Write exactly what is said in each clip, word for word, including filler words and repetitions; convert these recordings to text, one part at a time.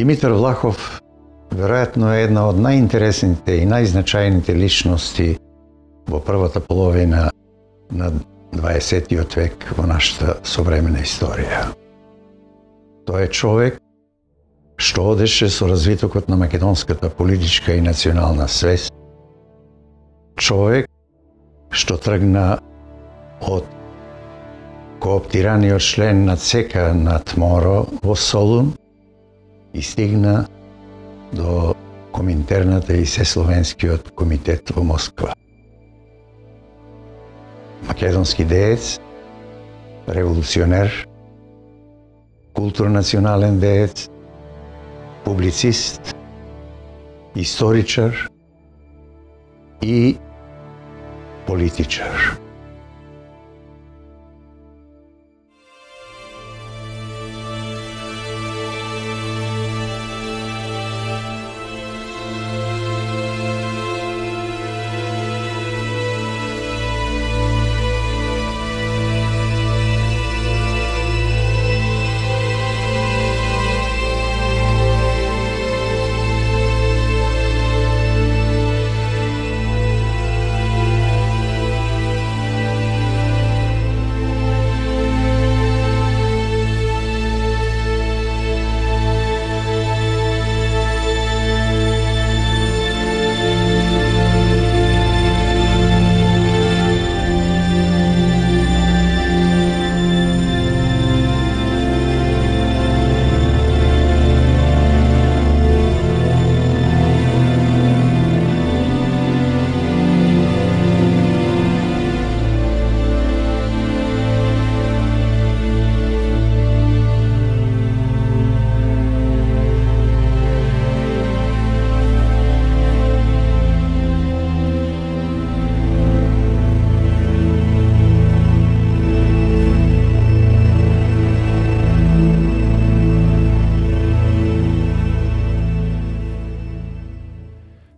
Димитар Влахов веројатно е една од најинтересните и најзначајните личности во првата половина на дваесеттиот век во нашата современа историја. Тој е човек што одеше со развитокот на македонската политичка и национална свест, човек што тргна од кооптираниот член на ЦК на ТМОРО во Солун и стигна до Коминтерната и Сесловенскиот комитет во Москва. Македонски деец, револуционер, културно-национален деец, публицист, историчар и политичар.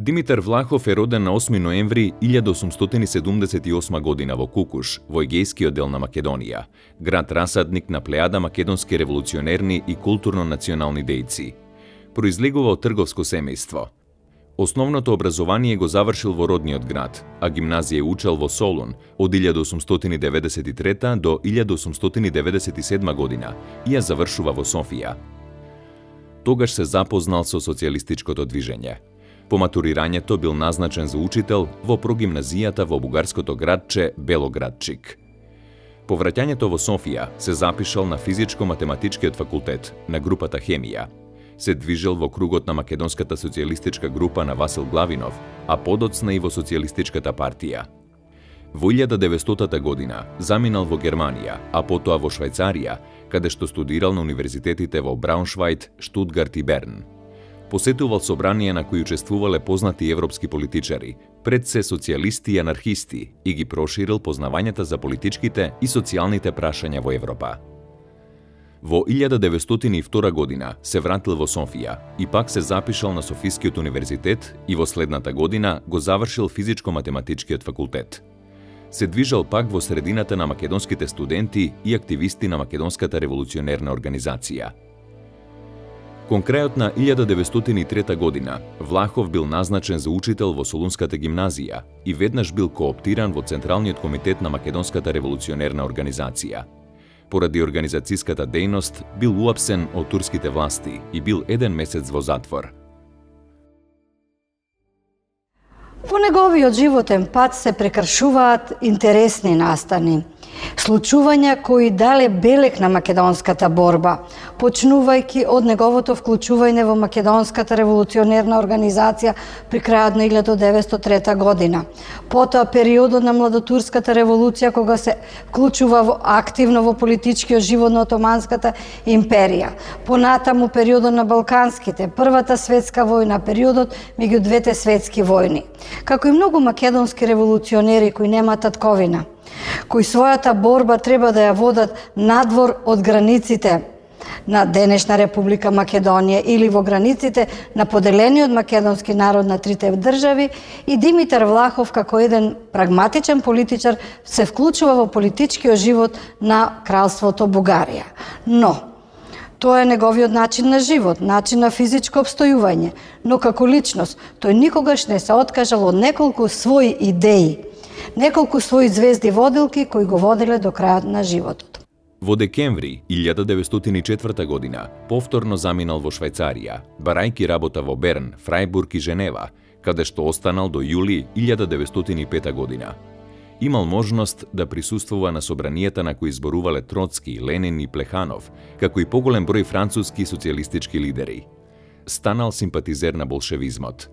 Димитар Влахов е роден на осми ноември илјада осумстотини седумдесет и осма година во Кукуш, во егејскиот дел на Македонија, град расадник на плејада македонски револуционерни и културно-национални дејци. Произлегува од трговско семејство. Основното образование го завршил во родниот град, а гимназија учел во Солун од илјада осумстотини деветдесет и трета до илјада осумстотини деветдесет и седма година и ја завршува во Софија. Тогаш се запознал со социјалистичкото движење. По матурирањето бил назначен за учител во прогимназијата во бугарското градче Белоградчик. По враќањето во Софија се запишал на физичко-математичкиот факултет на групата хемија. Се движел во кругот на македонската социјалистичка група на Васил Главинов, а подоцна и во социјалистичката партија. Во илјада деветстотата година заминал во Германија, а потоа во Швајцарија, каде што студирал на универзитетите во Брауншвајд, Штутгарт и Берн. Посетувал собранија на кои учествувале познати европски политичари, пред се социјалисти и анархисти, и ги проширил познавањата за политичките и социјалните прашања во Европа. Во илјада деветстотини и втора година се вратил во Софија и пак се запишал на Софискиот универзитет и во следната година го завршил физичко-математичкиот факултет. Се движал пак во средината на македонските студенти и активисти на македонската револуционерна организација. Кон крајот на илјада деветстотини и трета година, Влахов бил назначен за учител во Солунската гимназија и веднаш бил кооптиран во Централниот комитет на македонската револуционерна организација. Поради организацијската дејност бил уапсен од турските власти и бил еден месец во затвор. Во неговиот животен пат се прекршуваат интересни настани, случувања кои дале белег на македонската борба, почнувајќи од неговото вклучување во македонската револуционерна организација при крајот на илјада деветстотини и трета година. Потоа периодот на младотурската револуција кога се вклучува во, активно во политичкиот живот на Отоманската империја. Понатаму периодот на Балканските, Првата светска војна, периодот меѓу двете светски војни. Како и многу македонски револуционери кои нема татковина, кои својата борба треба да ја водат надвор од границите на денешна Република Македонија или во границите на поделениот македонски народ на трите држави, и Димитар Влахов како еден прагматичен политичар се вклучува во политичкиот живот на кралството Бугарија. Но Тоа е неговиот начин на живот, начин на физичко обстојување, но како личност тој никогаш не се откажал од неколку своји идеи, неколку своји звезди водилки кои го воделе до крајот на животот. Во декември илјада деветстотини и четврта година повторно заминал во Швајцарија, барајки работа во Берн, Фрајбург и Женева, каде што останал до јули илјада деветстотини и пета година. Имал можност да присуствува на собранијата на кои зборувале Троцки, Ленин и Плеханов, како и поголем број француски социјалистички лидери. Станал симпатизер на болшевизмот.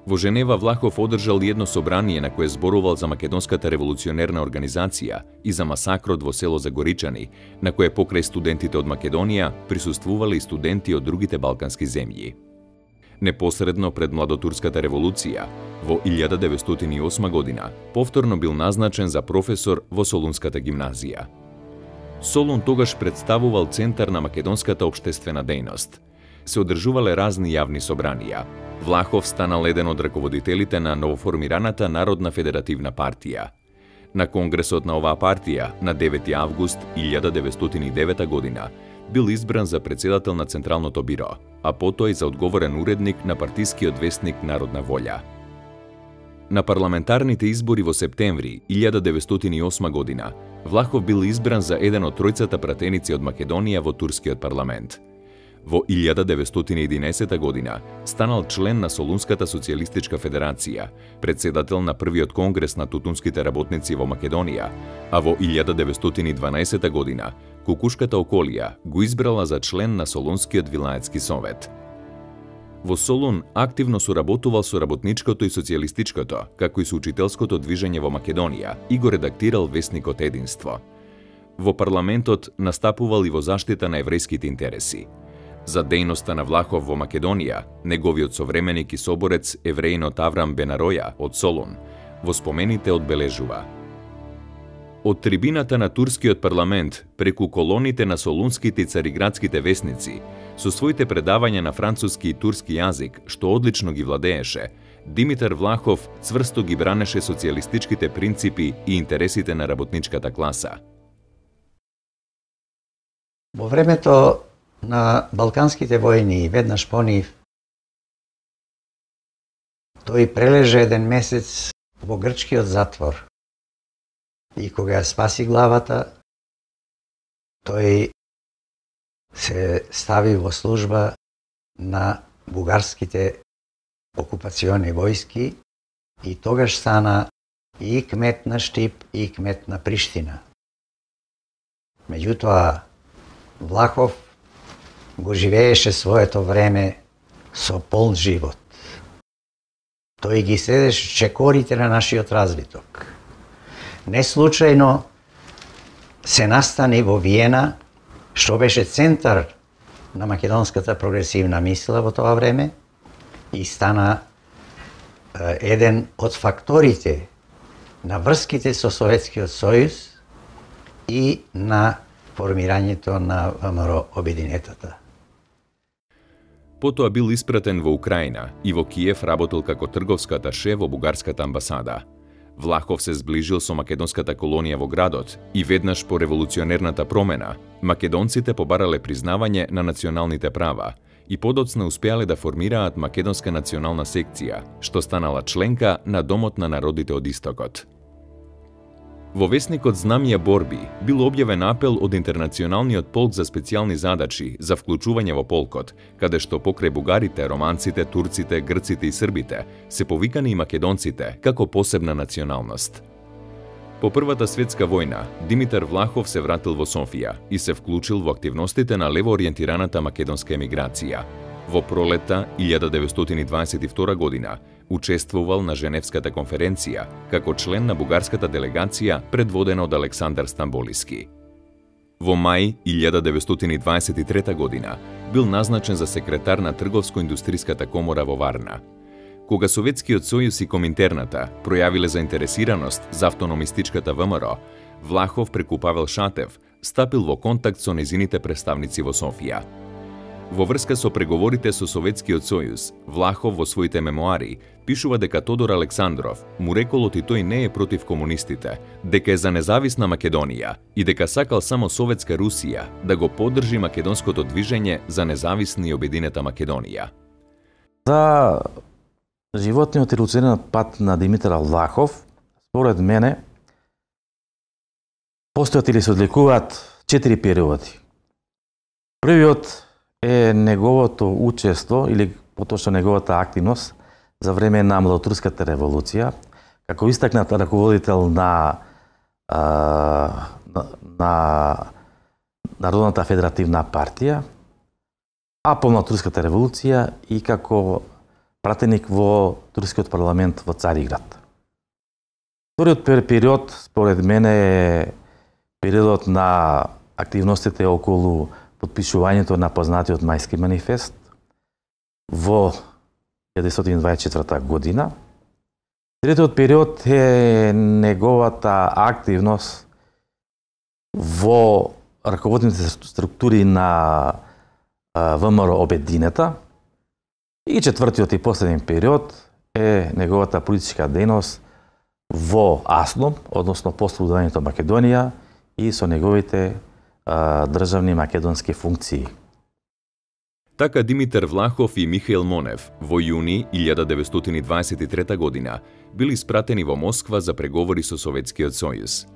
Во Женева Влахов одржал едно собрание на кое зборувал за Македонската револуционерна организација и за масакрот во село Загоричани, на кое покрај студентите од Македонија присуствувале и студенти од другите балкански земји. Непосредно пред Младотурската револуција, во илјада деветстотини и осма година, повторно бил назначен за професор во Солунската гимназија. Солун тогаш представувал центар на македонската општествена дејност. Се одржувале разни јавни собранија. Влахов станал еден од раководителите на новоформираната Народна федеративна партија. На конгресот на оваа партија на девети август илјада деветстотини и девета година бил избран за председател на Централното биро, а потоа и за одговорен уредник на партискиот весник Народна волја. На парламентарните избори во септември илјада деветстотини и осма година Влахов бил избран за еден од тројцата пратеници од Македонија во турскиот парламент. Во илјада деветстотини и единаесета година станал член на Солунската социјалистичка федерација, председател на првиот конгрес на тутунските работници во Македонија, а во илјада деветстотини и дванаесета година Кукушката околија го избрала за член на Солунскиот вилаетски совет. Во Солун активно соработувал со работничкото и социјалистичкото, како и со учителското движење во Македонија и го редактирал весникот Единство. Во парламентот настапувал и во заштита на еврејските интереси. За дејноста на Влахов во Македонија, неговиот современик и соборец евреинот Аврам Бенароја од Солун во спомените одбележува: од трибината на турскиот парламент преку колоните на солунските и цариградските весници, со своите предавања на француски и турски јазик, што одлично ги владееше, Димитар Влахов цврсто ги бранеше социјалистичките принципи и интересите на работничката класа. Во времето на Балканските војни и веднаш по нив, тој прележа еден месец во грчкиот затвор. И кога ја спаси главата, тој се стави во служба на бугарските окупациони војски и тогаш стана и кмет на Штип и кмет на Приштина. Меѓутоа, Влахов го живееше своето време со полн живот. Тој ги следеше чекорите на нашиот развиток. Не случајно се настани во Виена, што беше центар на македонската прогресивна мисла во тоа време и стана еден од факторите на врските со Советскиот сојуз и на формирањето на ВМРО обединетата. Потоа бил испратен во Украина и во Киев работел како трговска аташе во бугарската амбасада. Влахов се зближил со македонската колонија во градот и веднаш по револуционерната промена, македонците побарале признавање на националните права и подоцна успеале да формираат македонска национална секција, што станала членка на Домот на народите од Истокот. Во весникот Знамија борби бил објавен апел од Интернационалниот полк за специјални задачи за вклучување во полкот, каде што покрај бугарите, романците, турците, грците и србите се повикани и македонците како посебна националност. По Првата светска војна, Димитар Влахов се вратил во Софија и се вклучил во активностите на левоориентираната македонска емиграција. Во пролетта илјада деветстотини дваесет и втора година учествувал на Женевската конференција како член на бугарската делегација предводена од Александар Стамболиски. Во мај илјада деветстотини дваесет и трета година бил назначен за секретар на Трговско-индустриската комора во Варна. Кога Советскиот сојуз и Коминтерната пројавиле заинтересираност за автономистичката ВМРО, Влахов преку Павел Шатев стапил во контакт со незините представници во Софија. Во врска со преговорите со Советскиот сојуз, Влахов во своите мемоари пишува дека Тодор Александров му рекол оти тој не е против комунистите, дека е за независна Македонија и дека сакал само Советска Русија да го поддржи македонското движење за независна и обединета Македонија. За животниот револуционерен пат на Димитар Влахов, според мене, постојат или се одликуваат четири периоди. Првиот е неговото учество или поточно неговата активност за време на Младотурската револуција, како истакнат раководител на, а, на, на Народната федеративна партија, а по Младотурската револуција и како пратеник во турскиот парламент во Цариград. Вториот период, според мене, е периодот на активностите околу подпишувањето на познатиот Мајски манифест во илјада деветстотини дваесет и четврта година. Третиот период е неговата активност во раководните структури на ВМРО Обединета. И четвртиот и последен период е неговата политичка дејност во АСНОМ, односно послободувањето Македонија и со неговите а, државни македонски функции. Така Димитар Влахов и Михаил Монев во јуни илјада деветстотини дваесет и трета година били испратени во Москва за преговори со Советскиот сојуз.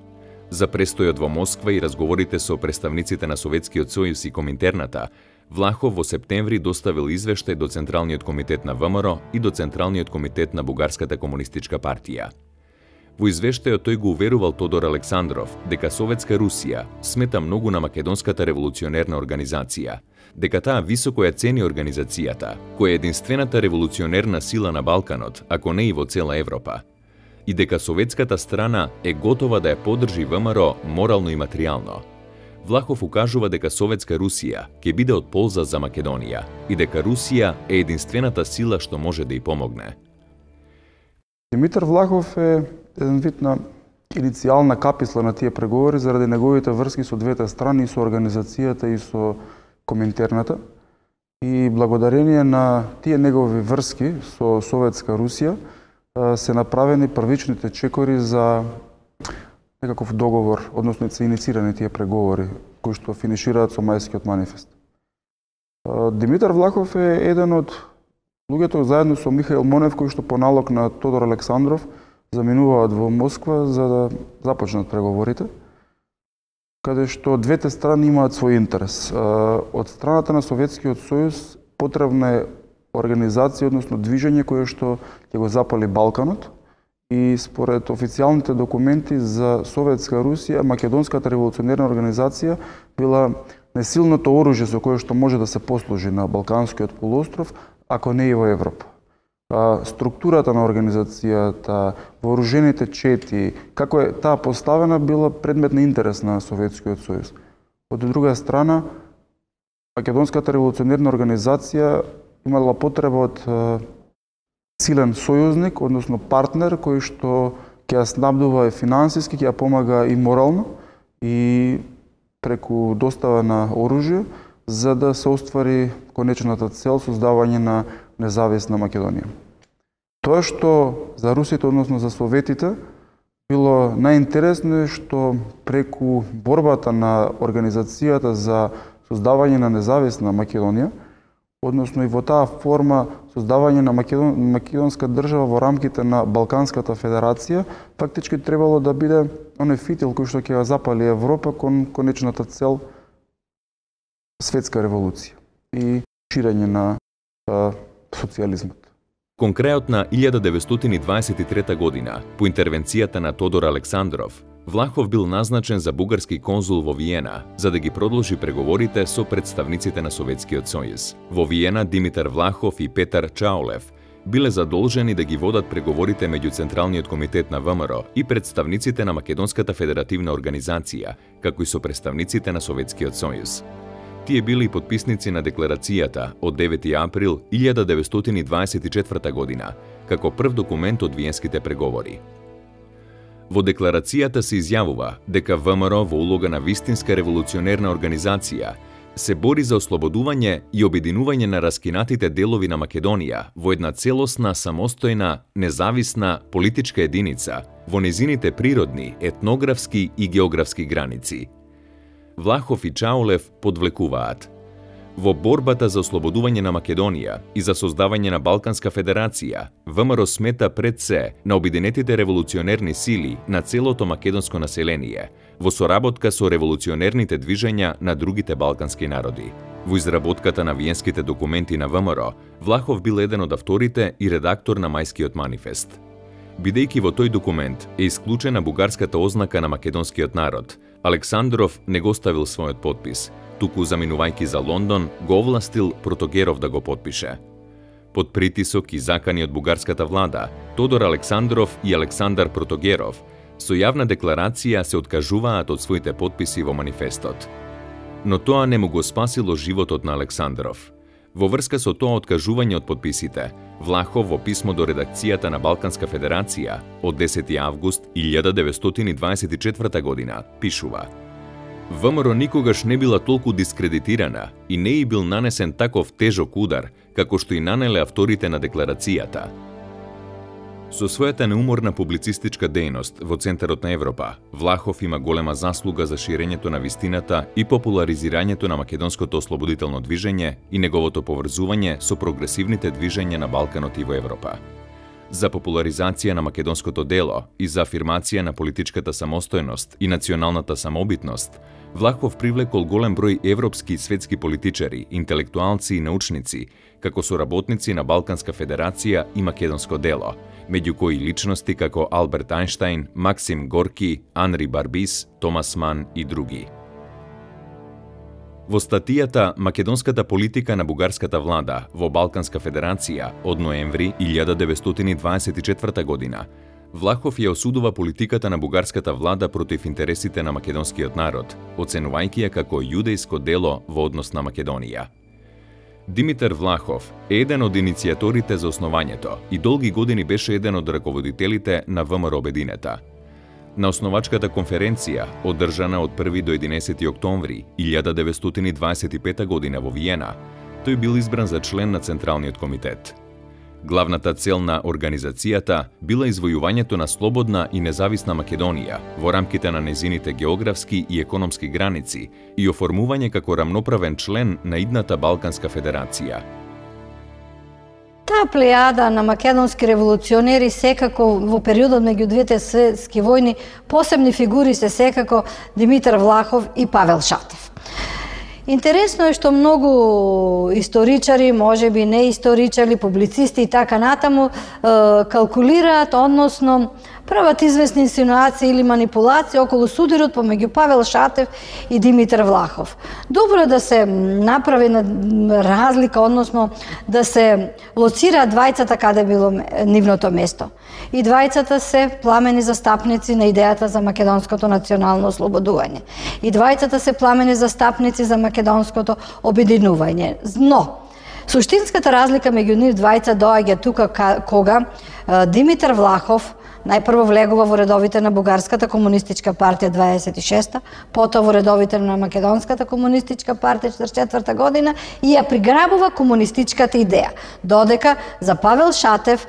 За престојот во Москва и разговорите со представниците на Советскиот сојуз и Коминтерната, Влахов во септември доставил извештај до Централниот комитет на ВМРО и до Централниот комитет на Бугарската комунистичка партија. Во извештајот тој го уверувал Тодор Александров дека Советска Русија смета многу на Македонската револуционерна организација, дека таа високо ја цени организацијата, која е единствената револуционерна сила на Балканот, ако не и во цела Европа, и дека советската страна е готова да ја поддржи ВМРО морално и материјално. Влахов укажува дека Советска Русија ќе биде од полза за Македонија и дека Русија е единствената сила што може да ја помогне. Димитар Влахов е еден вид на иницијална каписла на тие преговори заради неговите врски со двете страни, и со организацијата и со Коминтерната. И благодарение на тие негови врски со Советска Русија се направени првичните чекори за некаков договор, односно се иницирани тие преговори кои што финишираат со Мајскиот манифест. Димитар Влахов е еден од луѓето заедно со Михаил Монев кои што по налог на Тодор Александров заминуваат во Москва за да започнат преговорите, каде што двете страни имаат свој интерес. Од страната на Советскиот сојуз потребна е организација, односно движење кое што ќе го запали Балканот, и според официјалните документи за Советска Русија, Македонската револуционерна организација била несилното оружје со кое што може да се послужи на Балканскиот полуостров, ако не и во Европа. Структурата на организацијата, вооружените чети, како е таа поставена, била предмет на интерес на Советскиот сојуз. Од друга страна, Македонската револуционерна организација имала потреба од силен сојузник, односно партнер, кој што ќе ја снабдува и финансиски, ќе ја помага и морално, и преку достава на оружје, за да се оствари конечната цел создавање на независна Македонија. Тоа што за русите, односно за советите, било најинтересно е што преку борбата на организацијата за создавање на независна Македонија, односно и во таа форма создавање на Македон, македонска држава во рамките на Балканската федерација, фактички требало да биде оној фитил кој што ќе ја запали Европа кон конечната цел светска револуција и ширење на а, социјализмот. Кон крајот на илјада деветстотини дваесет и трета година, по интервенцијата на Тодор Александров, Влахов бил назначен за бугарски конзул во Виена, за да ги продолжи преговорите со представниците на Советскиот сојуз. Во Виена Димитар Влахов и Петар Чаолев биле задолжени да ги водат преговорите меѓу Централниот комитет на ВМРО и представниците на Македонската федеративна организација, како и со представниците на Советскиот сојуз. Тие били подписници на декларацијата од девети април илјада деветстотини дваесет и четврта година, како прв документ од виенските преговори. Во декларацијата се изјавува дека ВМРО во улога на вистинска револуционерна организација се бори за ослободување и обединување на раскинатите делови на Македонија во една целосна, самостојна, независна политичка единица во незините природни, етнографски и географски граници. Влахов и Чаулев подвлекуваат: во борбата за ослободување на Македонија и за создавање на Балканска федерација, ВМРО смета пред се на обединетите револуционерни сили на целото македонско население, во соработка со револуционерните движења на другите балкански народи. Во изработката на виенските документи на ВМРО, Влахов бил еден од авторите и редактор на Мајскиот манифест. Бидејќи во тој документ е исклучена бугарската ознака на македонскиот народ, Александров не го ставил својот подпис, туку заминувајќи за Лондон, го овластил Протогеров да го подпише. Под притисок и закани од бугарската влада, Тодор Александров и Александар Протогеров со јавна декларација се откажуваат од своите подписи во манифестот. Но тоа не му го спасило животот на Александров. Во врска со тоа откажување од подписите, Влахов во писмо до редакцијата на Балканска федерација од десети август илјада деветстотини дваесет и четврта година пишува: ВМРО никогаш не била толку дискредитирана и не и бил нанесен таков тежок удар, како што и нанеле авторите на декларацијата. Со својата неуморна публицистичка дејност во центарот на Европа, Влахов има голема заслуга за ширењето на вистината и популаризирањето на македонското ослободително движење и неговото поврзување со прогресивните движења на Балканот и во Европа. За популаризација на македонското дело и за афирмација на политичката самостојност и националната самобитност, Влахов привлекол голем број европски и светски политичари, интелектуалци и научници, како соработници на Балканска федерација и македонско дело, меѓу кои личности како Алберт Ајнштајн, Максим Горки, Анри Барбис, Томас Ман и други. Во статијата «Македонската политика на бугарската влада во Балканска федерација» од ноември илјада деветстотини дваесет и четврта година, Влахов ја осудува политиката на бугарската влада против интересите на македонскиот народ, оценувајќи ја како јудејско дело во однос на Македонија. Димитар Влахов е еден од иницијаторите за основањето и долги години беше еден од раководителите на ВМРО Обединета. На основачката конференција, одржана од први до единесети октомври илјада деветстотини дваесет и пета година во Виена, тој бил избран за член на Централниот комитет. Главната цел на организацијата била извојувањето на слободна и независна Македонија во рамките на незините географски и економски граници и оформување како рамноправен член на идната Балканска федерација. Таа плејада на македонски револуционери секако во периодот меѓу двете светски војни посебни фигури се секако Димитар Влахов и Павел Шатев. Интересно е што многу историчари, можеби не историчари, публицисти и така натаму калкулираат, односно прават известни инсинуации или манипулации околу судирот помеѓу Павел Шатев и Димитар Влахов. Добро е да се направи разлика, односно да се лоцираат двајцата каде било нивното место. И двајцата се пламени застапници на идејата за македонското национално ослободување. И двајцата се пламени застапници за македонското обединување. Но, суштинската разлика меѓу нив двајца доаѓа тука кога Димитар Влахов најпрво влегува во редовите на Бугарската комунистичка партија дваесет и шеста, потоа во редовите на Македонската комунистичка партија четридесет и четврта година и ја приграбува комунистичката идеја. Додека за Павел Шатев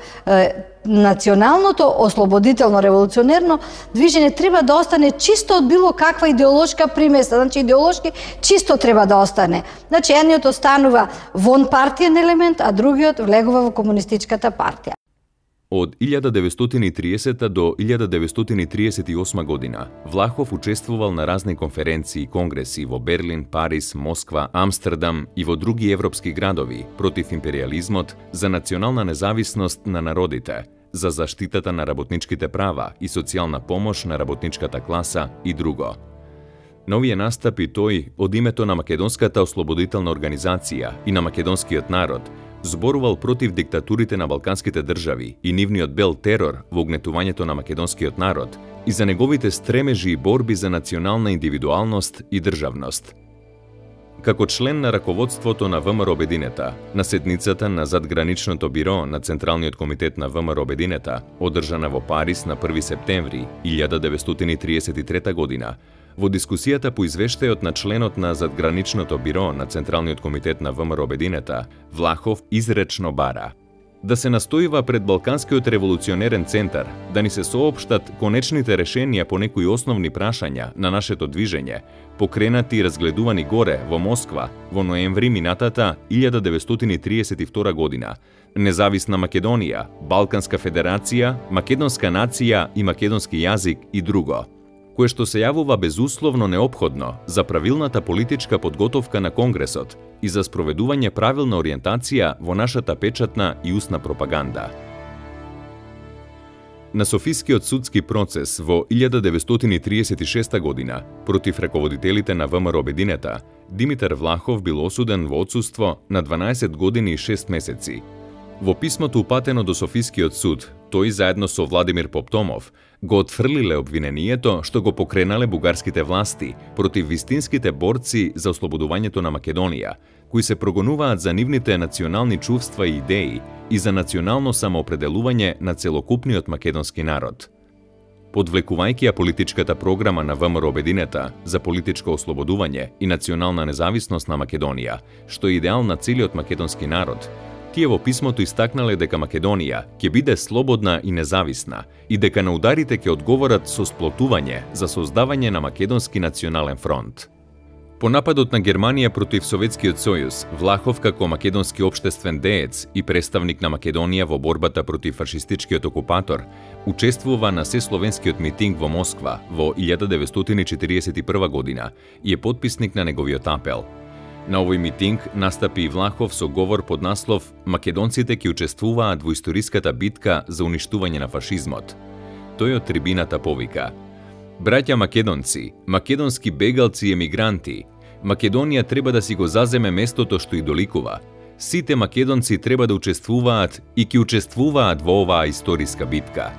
националното ослободително револуционерно движење треба да остане чисто од било каква идеолошка примеса, значи идеолошки чисто треба да остане. Значи едниот останува вон партиен елемент, а другиот влегува во комунистичката партија. Од илјада деветстотини и триесета до илјада деветстотини триесет и осма година Влахов учествувал на разни конференции и конгреси во Берлин, Париз, Москва, Амстердам и во други европски градови против империализмот, за национална независност на народите, за заштитата на работничките права и социјална помош на работничката класа и друго. На овие настапи тој, од името на Македонската ослободителна организација и на македонскиот народ, зборувал против диктатурите на балканските држави и нивниот бел терор во угнетувањето на македонскиот народ и за неговите стремежи и борби за национална индивидуалност и државност. Како член на раководството на ВМРО Обединета, на седницата на задграничното биро на Централниот комитет на ВМРО Обединета, одржана во Париз на први септември илјада деветстотини триесет и трета година, Во дискусијата по извештајот на членот на задграничното биро на Централниот комитет на ВМРО Обединета, Влахов изречно бара да се настојува пред Балканскиот револуционерен центар да ни се соопштат конечните решенија по некои основни прашања на нашето движење, покренати и разгледувани горе во Москва во ноември минатата илјада деветстотини триесет и втора година, Независна Македонија, Балканска федерација, Македонска нација и македонски јазик и друго, кое што се јавува безусловно неопходно за правилната политичка подготовка на Конгресот и за спроведување правилна ориентација во нашата печатна и устна пропаганда. На Софискиот судски процес во илјада деветстотини триесет и шеста година против раководителите на ВМРО Обединета, Димитар Влахов бил осуден во отсуство на дванаесет години и шест месеци. Во писмото упатено до Софискиот суд, тој заедно со Владимир Поптомов го отфрлиле обвинението што го покренале бугарските власти против вистинските борци за ослободувањето на Македонија, кои се прогонуваат за нивните национални чувства и идеи и за национално самоопределување на целокупниот македонски народ. Подвлекувајќи ја политичката програма на ВМРО Обединета за политичко ослободување и национална независност на Македонија, што е идеал на целиот македонски народ, тие во писмото истакнале дека Македонија ќе биде слободна и независна и дека на ударите ќе одговорат со сплотување за создавање на македонски национален фронт. По нападот на Германија против Советскиот сојуз, Влахов како македонски општествен деец и представник на Македонија во борбата против фашистичкиот окупатор, учествува на сесловенскиот митинг во Москва во илјада деветстотини четириесет и прва година и е потписник на неговиот апел. На овој митинг настапи и Влахов со говор под наслов «Македонците ќе учествуваат во историската битка за уништување на фашизмот». Тој од трибината повика: Браќа македонци, македонски бегалци и емигранти, Македонија треба да си го заземе местото што и доликува. Сите македонци треба да учествуваат и ќе учествуваат во оваа историска битка.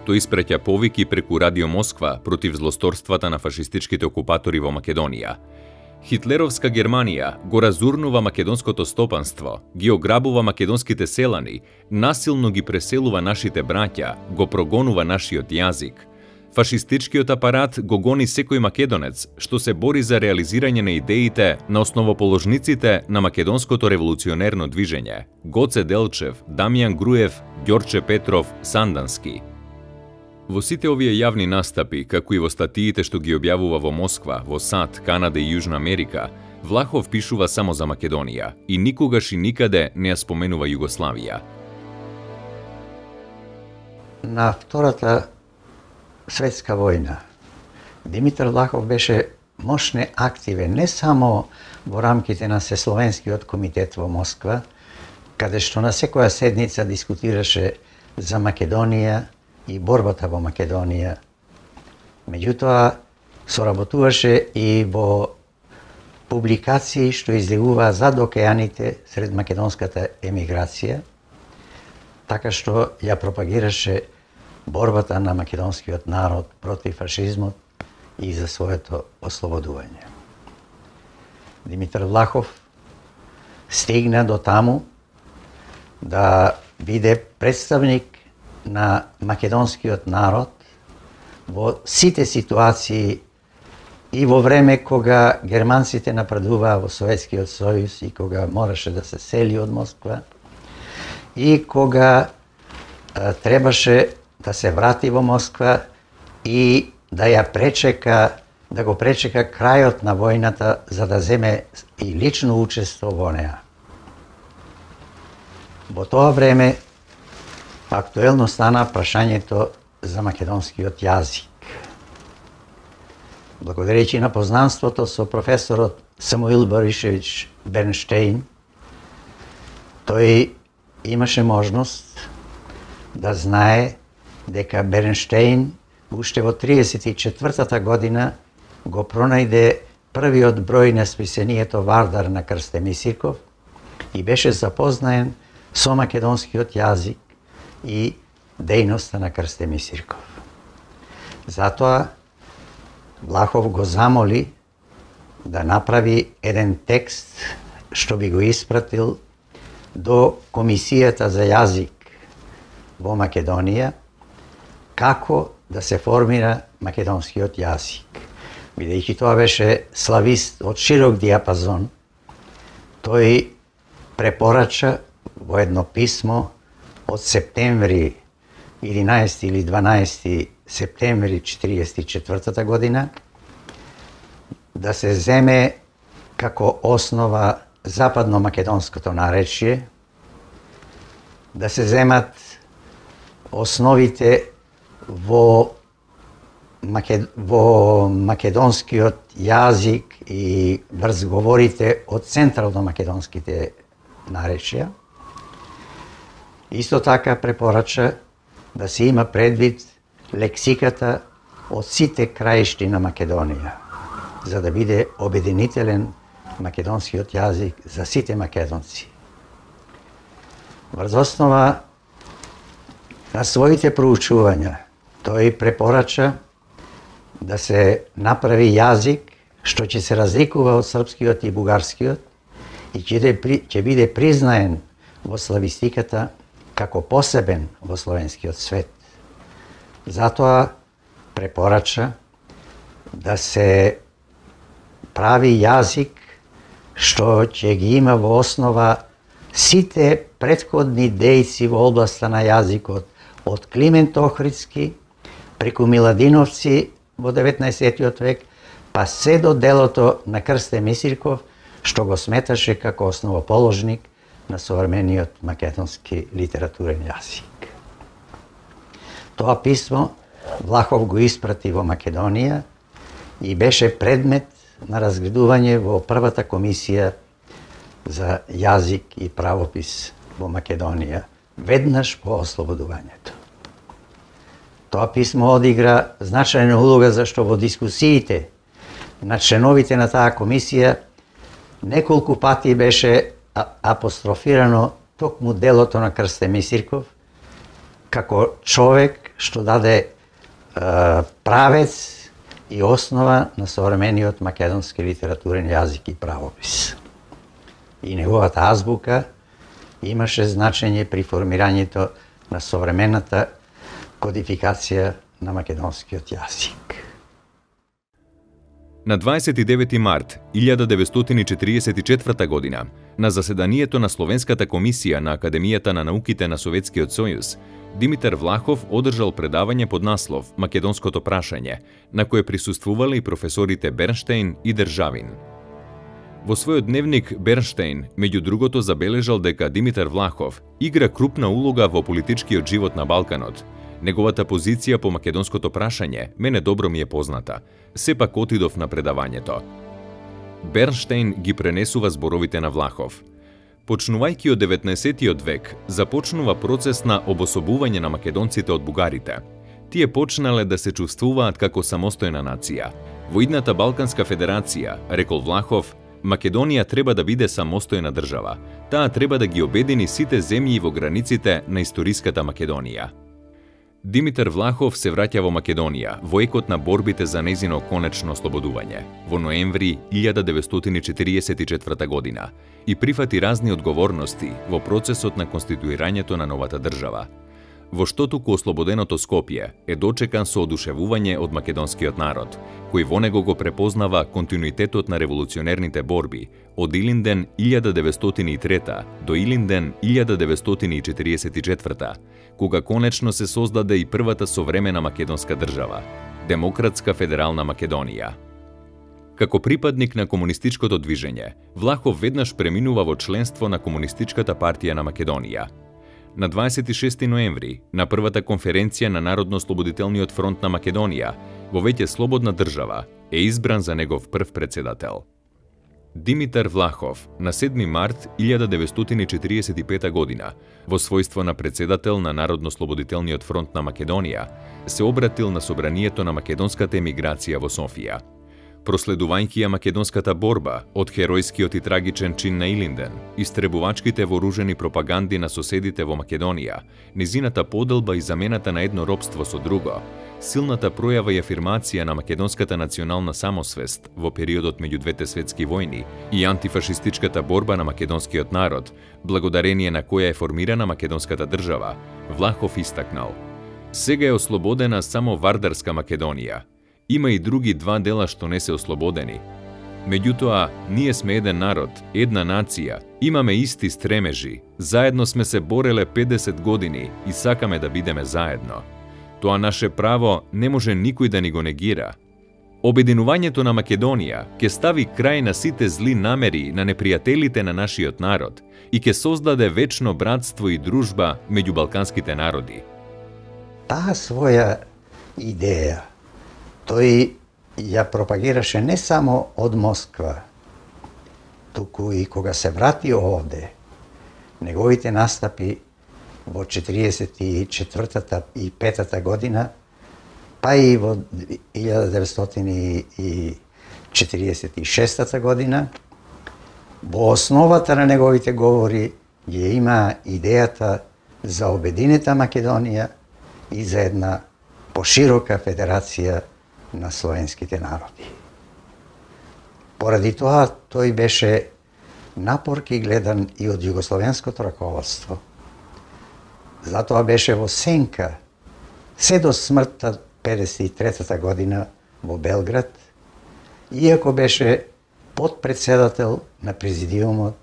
Тој испраќа повики преку Радио Москва против злосторствата на фашистичките окупатори во Македонија. Хитлеровска Германија го разурнува македонското стопанство, ги ограбува македонските селани, насилно ги преселува нашите браќа, го прогонува нашиот јазик. Фашистичкиот апарат го гони секој македонец што се бори за реализирање на идеите на основоположниците на македонското револуционерно движење: Гоце Делчев, Дамјан Груев, Ѓорче Петров, Сандански. Во сите овие јавни настапи, како и во статиите што ги објавува во Москва, во САД, Канада и Јужна Америка, Влахов пишува само за Македонија и никогаш и никаде не ја споменува Југославија. На Втората светска војна Димитар Влахов беше мощно активен не само во рамките на Сесловенскиот комитет во Москва, каде што на секоја седница дискутираше за Македонија и борбата во Македонија. Меѓутоа, соработуваше и во публикации што излегуваа зад океаните сред македонската емиграција, така што ја пропагираше борбата на македонскиот народ против фашизмот и за своето ослободување. Димитар Влахов стигна до таму да биде представник на македонскиот народ во сите ситуации и во време кога германците нападуваа во Советскиот сојуз и кога мораше да се сели од Москва и кога а, требаше да се врати во Москва и да ја пречека, да го пречека крајот на војната за да земе и лично учество во неа. Во тоа време актуелно стана прашањето за македонскиот јазик. Благодарејќи на познанството со професорот Самуил Боришевич Бернштейн, тој имаше можност да знае дека Бернштейн уште во триесет и четвртата година го пронајде првиот број на списанието Вардар на Крстеми Сирков и беше запознаен со македонскиот јазик и дејноста на Крстеми Сирков. Затоа Влахов го замоли да направи еден текст што би го испратил до Комисијата за јазик во Македонија, како да се формира македонскиот јазик. бидејќи тоа беше славист од широк диапазон, тој препорача во едно писмо од септември единаесети или дванаесети септември четириесет и четвртата година да се земе како основа западно-македонското наречие, да се земат основите во, Макед... во македонскиот јазик и врзговорите од централно-македонските наречија. Исто така препорача да се има предвид лексиката од сите краишти на Македонија, за да биде обединителен македонскиот јазик за сите македонци. Врз основа на своите проучувања, тој препорача да се направи јазик што ќе се разликува од српскиот и бугарскиот и ќе биде признаен во славистиката како посебен во словенскиот свет. Затоа препорача да се прави јазик што ќе ги има во основа сите претходни дејци во областа на јазикот, од Климент Охридски, преку Миладиновци во деветнаесеттиот век, па се до делото на Крсте Мисирков, што го сметаше како основоположник на современиот македонски литературен јазик. Тоа писмо Влахов го испрати во Македонија и беше предмет на разгледување во првата комисија за јазик и правопис во Македонија, веднаш по ослободувањето. Тоа писмо одигра значајна улога зашто во дискусиите на членовите на таа комисија неколку пати беше апострофирано токму делото на Крсте Мисирков како човек што даде е, правец и основа на современиот македонски литературен јазик и правопис. И неговата азбука имаше значење при формирањето на современата кодификација на македонскиот јазик. На дваесет и девети март илјада деветстотини четиридесет и четврта година, на заседанието на Словенската комисија на Академијата на науките на Советскиот сојуз, Димитар Влахов одржал предавање под наслов «Македонското прашање», на кое присуствувале и професорите Бернштейн и Државин. Во својот дневник Бернштейн, меѓу другото, забележал дека Димитар Влахов игра крупна улога во политичкиот живот на Балканот. Неговата позиција по македонското прашање мене добро ми е позната. Сепак отидов на предавањето. Бернштейн ги пренесува зборовите на Влахов. Почнувајќи од деветнаесеттиот век, започнува процес на обособување на македонците од бугарите. Тие почнале да се чувствуваат како самостојна нација. Во идната Балканска федерација, рекол Влахов, Македонија треба да биде самостојна држава. Таа треба да ги обедини сите земји во границите на историската Македонија. Димитар Влахов се враќа во Македонија во екот на борбите за нејзино конечно ослободување во ноември илјада деветстотини четиридесет и четврта година и прифати разни одговорности во процесот на конституирањето на новата држава. Во што туку ослободеното Скопје е дочекан со одушевување од македонскиот народ, кој во него го препознава континуитетот на револуционерните борби од Илинден илјада деветстотини и трета до Илинден илјада деветстотини и четиридесет и четврта, кога конечно се создаде и првата современа македонска држава – Демократска федерална Македонија. Како припадник на комунистичкото движење, Влахов веднаш преминува во членство на Комунистичката партија на Македонија. На дваесет и шести ноември, на првата конференција на Народно-ослободителниот фронт на Македонија, во веќе слободна држава, е избран за негов прв председател. Димитар Влахов на седми март илјада деветстотини четиридесет и пета година, во својство на председател на Народно-ослободителниот фронт на Македонија, се обратил на собранието на македонската емиграција во Софија. Проследувајќи ја македонската борба од херојскиот и трагичен чин на Илинден, истребувачките вооружени пропаганди на соседите во Македонија, низината поделба и замената на едно робство со друго, силната пројава и афирмација на македонската национална самосвест во периодот меѓу двете светски војни и антифашистичката борба на македонскиот народ, благодарение на која е формирана македонската држава, Влахов истакнал: сега е ослободена само Вардарска Македонија. Има и други два дела што не се ослободени. Меѓутоа, ние сме еден народ, една нација, имаме исти стремежи, заедно сме се бореле педесет години и сакаме да бидеме заедно. Тоа наше право не може никој да ни го негира. Обединувањето на Македонија ќе стави крај на сите зли намери на непријателите на нашиот народ и ќе создаде вечно братство и дружба меѓу балканските народи. Таа своја идеја тој ја пропагираше не само од Москва, туку и кога се врати овде. Неговите настапи во четириесет и четвртата и петата година, па и во илјада деветстотини и четириесет и шестата година, во основата на неговите говори ја има идејата за обединета Македонија и за една поширока федерација на словенските народи. Поради тоа тој беше напорки гледан и од југословенското раководство. Затоа беше во сенка се до смртта педесет и третата година во Белград, иако беше подпредседател на президиумот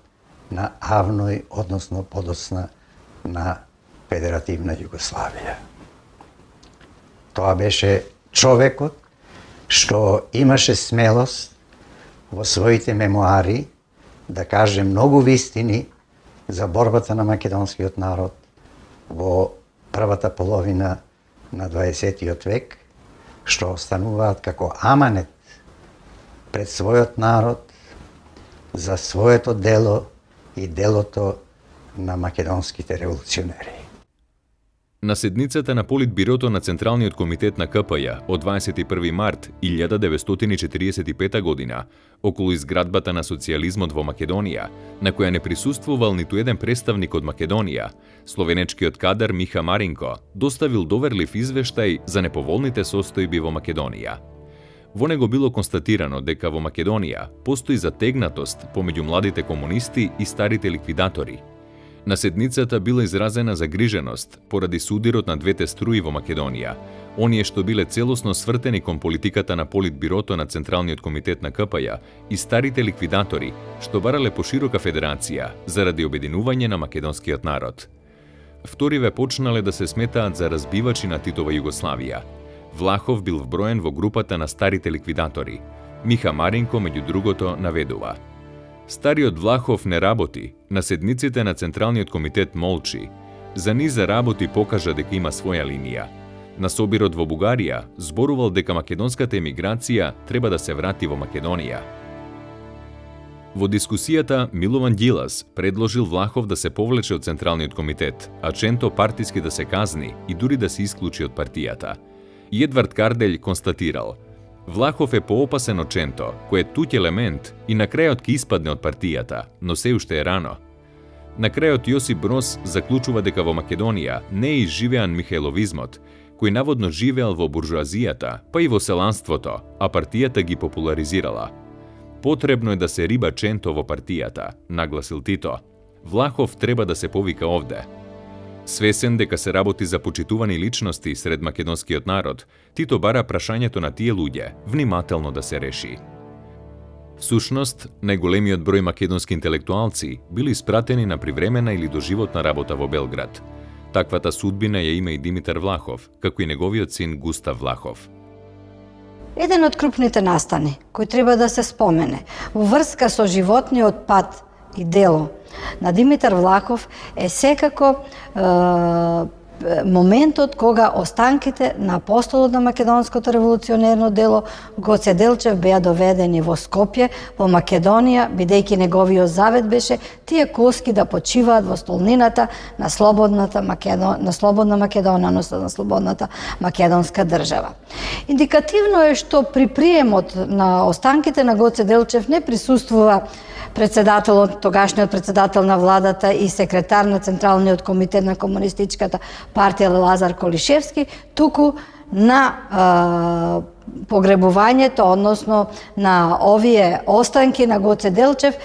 на АВНОј, односно подоцна на Федеративна Југославија. Тоа беше човекот што имаше смелост во своите мемуари да каже многу вистини за борбата на македонскиот народ во првата половина на дваесеттиот век, што остануваат како аманет пред својот народ за своето дело и делото на македонските револуционери. На седницата на Политбирото на Централниот комитет на Ка П Ј од дваесет и први март илјада деветстотини четириесет и пета година, околу изградбата на социјализмот во Македонија, на која не присуствувал ниту еден представник од Македонија, словенечкиот кадар Миха Маринко доставил доверлив извештај за неповолните состојби во Македонија. Во него било констатирано дека во Македонија постои затегнатост помеѓу младите комунисти и старите ликвидатори. На седницата била изразена загриженост поради судирот на двете струи во Македонија, оние што биле целосно свртени кон политиката на Политбирото на Централниот комитет на Ка П Ј и старите ликвидатори, што барале поширока федерација заради обединување на македонскиот народ. Вториве почнале да се сметаат за разбивачи на Титова Југославија. Влахов бил вброен во групата на старите ликвидатори. Миха Маринко, меѓу другото, наведува: Стариот Влахов не работи, на седниците на Централниот комитет молчи. За низа работи покажа дека има своја линија. На собирот во Бугарија зборувал дека македонската емиграција треба да се врати во Македонија. Во дискусијата Милован Ѓилас предложил Влахов да се повлече од Централниот комитет, а Ченто партиски да се казни и дури да се исклучи од партијата. И Едвард Карделј констатирал: Влахов е поопасен од Ченто, кој е туѓ елемент и на крајот ќе испадне од партијата, но се уште е рано. На крајот Јосип Брос заклучува дека во Македонија не е изживеан михајловизмот, кој наводно живеел во буржуазијата, па и во селанството, а партијата ги популаризирала. Потребно е да се риба Ченто во партијата, нагласил Тито. Влахов треба да се повика овде. Свесен дека се работи за почитувани личности сред македонскиот народ, Тито бара прашањето на тие луѓе внимателно да се реши. Всушност, најголемиот број македонски интелектуалци били испратени на привремена или доживотна работа во Белград. Таквата судбина ја има и Димитар Влахов, како и неговиот син Густав Влахов. Еден од крупните настани кој треба да се спомене во врска со животниот пат и дело на Димитар Влахов е секако е, моментот кога останките на апостолот на македонското револуционерно дело Гоце Делчев беа доведени во Скопје, во Македонија, бидејќи неговиот завет беше тие коски да почиваат во столнината на слободната Македон... на слободна Македонија, односно на слободната македонска држава. Индикативно е што при приемот на останките на Гоце Делчев не присуствува председателот, тогашниот председател на владата и секретар на Централниот комитет на Комунистичката партија Лазар Колишевски, туку на е, погребувањето, односно на овие останки на Гоце Делчев,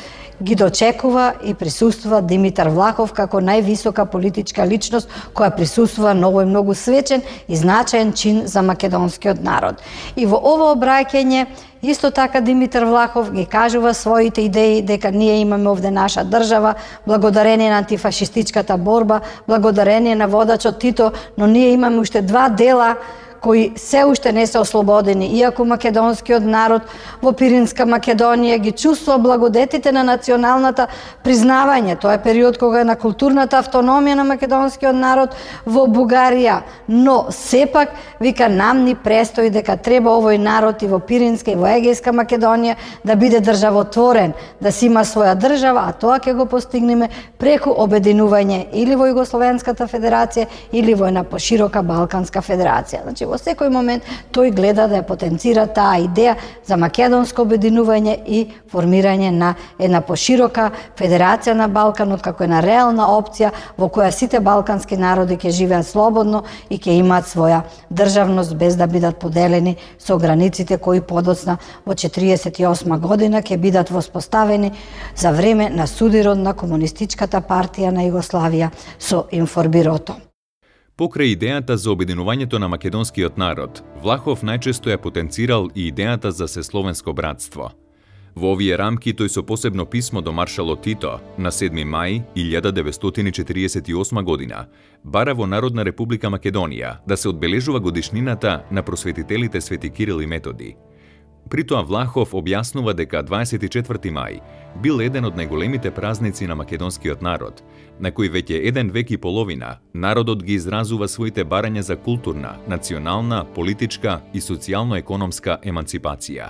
ги дочекува и присуствува Димитар Влахов како највисока политичка личност која присуствува многу и многу свечен и значаен чин за македонскиот народ. И во ово обраќање исто така Димитар Влахов ги кажува своите идеи дека ние имаме овде наша држава, благодарение на антифашистичката борба, благодарение на водачот Тито, но ние имаме уште два дела кои се уште не се ослободени, иако македонскиот народ во Пиринска Македонија ги чувствува благодетите на националната признавање. Тоа е период кога е на културната автономија на македонскиот народ во Бугарија. Но сепак, вика, нам ни престои дека треба овој народ и во Пиринска и во Егејска Македонија да биде државотворен, да си има своја држава, а тоа ќе го постигнеме преку обединување или во Југословенската федерација или во една поширока Балканска федерација. Значи, во секој момент тој гледа да ја потенцира таа идеја за македонско обединување и формирање на една поширока федерација на Балканот како една реална опција во која сите балкански народи ќе живеат слободно и ќе имаат своја државност без да бидат поделени со границите кои подоцна во четириесет и осма година ќе бидат воспоставени за време на судирот на Комунистичката партија на Југославија со Информбирото. Покрај идејата за обединувањето на македонскиот народ, Влахов најчесто ја потенцирал и идејата за сесловенско братство. Во овие рамки тој со посебно писмо до маршалот Тито на седми мај илјада деветстотини четириесет и осма година бара во Народна република Македонија да се одбележува годишнината на просветителите Свети Кирил и Методи. При тоа Влахов објаснува дека дваесет и четврти мај бил еден од најголемите празници на македонскиот народ, на кој веќе еден век и половина народот ги изразува своите барања за културна, национална, политичка и социјално-економска еманципација.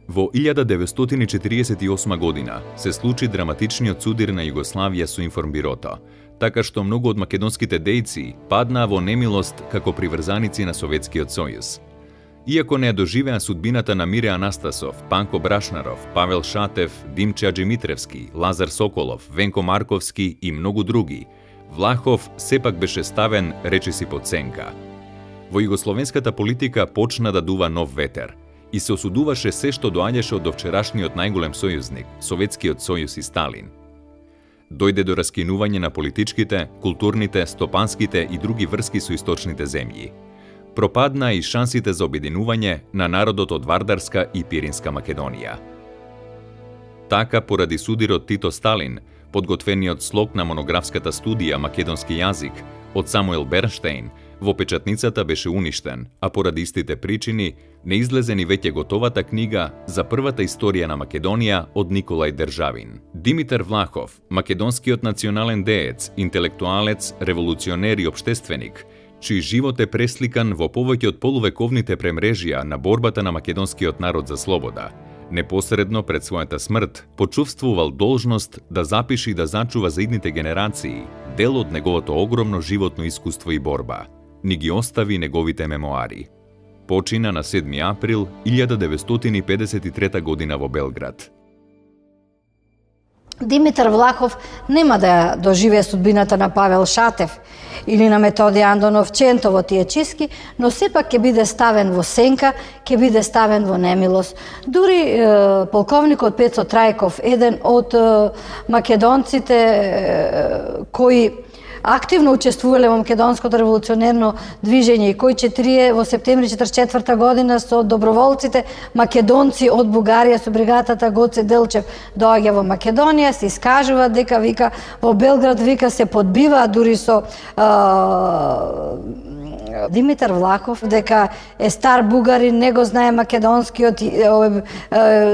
Во илјада деветстотини четириесет и осма година се случи драматичниот судир на Југославија со Информбирото, така што многу од македонските дејци паднаа во немилост како приврзаници на Советскиот сојуз. Иако не ја доживеа судбината на Мире Анастасов, Панко Брашнаров, Павел Шатев, Димче Аџимитревски, Лазар Соколов, Венко Марковски и многу други, Влахов сепак беше ставен речиси под сенка. Во југословенската политика почна да дува нов ветер и се осудуваше се што доаѓаше од довчерашниот најголем сојузник, Советскиот сојуз и Сталин. Дојде до раскинување на политичките, културните, стопанските и други врски со источните земји. Пропадна и шансите за обединување на народот од Вардарска и Пиринска Македонија. Така, поради судирот Тито Сталин, подготвениот слог на монографската студија Македонски јазик од Самуел Бернштейн во печатницата беше уништен, а поради истите причини не излезе ни веќе готовата книга за првата историја на Македонија од Николај Државин. Димитар Влахов, македонскиот национален деец, интелектуалец, револуционер и општественик, чиј живот е пресликан во повеќе од полувековните премрежија на борбата на македонскиот народ за слобода, непосредно пред својата смрт почувствувал должност да запише и да зачува за идните генерации дел од неговото огромно животно искуство и борба. Ни ги остави неговите мемоари. Почина на седми април илјада деветстотини педесет и трета година во Белград. Димитар Влахов нема да доживее судбината на Павел Шатев или на Методи Андонов Ченто во тие чистки, но сепак ќе биде ставен во сенка, ќе биде ставен во немилост. Дури е, полковникот Пецо Трајков, еден од е, македонците е, кои активно учествувале во македонското револуционерно движење и кои четирие во септември четридесет и четврта година со доброволците македонци од Бугарија со бригадата Гоце Делчев доаѓа во Македонија, се искажува дека вика во Белград вика се подбива дури со а, Димитар Влахов дека е стар бугарин, не го знае македонскиот,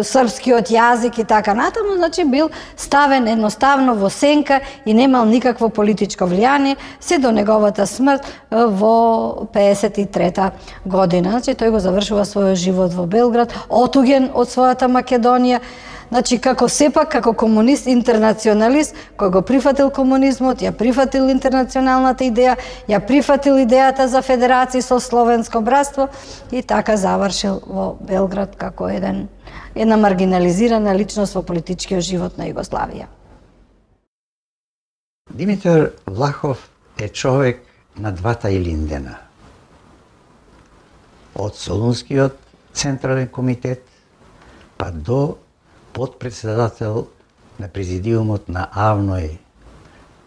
српскиот јазик и така натаму, значи бил ставен едноставно во сенка и немал никакво политичко влијание се до неговата смрт во педесет и трета година. Значи тој го завршува својот живот во Белград, отуген од својата Македонија. Значи, како сепак, како комунист, интернационалист, кој го прифатил комунизмот, ја прифатил интернационалната идеја, ја прифатил идејата за федерација со словенско братство и така завршил во Белград како еден, една маргинализирана личност во политичкиот живот на Југославија. Димитар Влахов е човек на двата Илиндена. Од Солунскиот централен комитет па до подпредседател на президиумот на АВНОј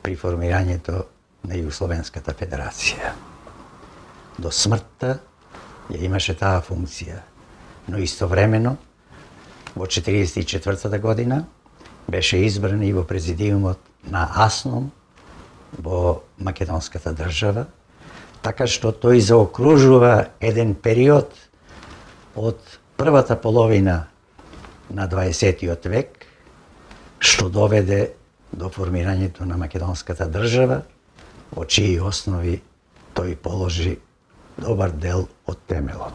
при формирањето на Југословенската федерација. До смртта ја имаше таа функција, но истовремено во четириесет и четвртата година беше избран и во президиумот на АСНОМ во македонската држава, така што тој заокружува еден период од првата половина на дваесеттиот век, што доведе до формирањето на македонската држава, во чии основи тој положи добар дел од темелот.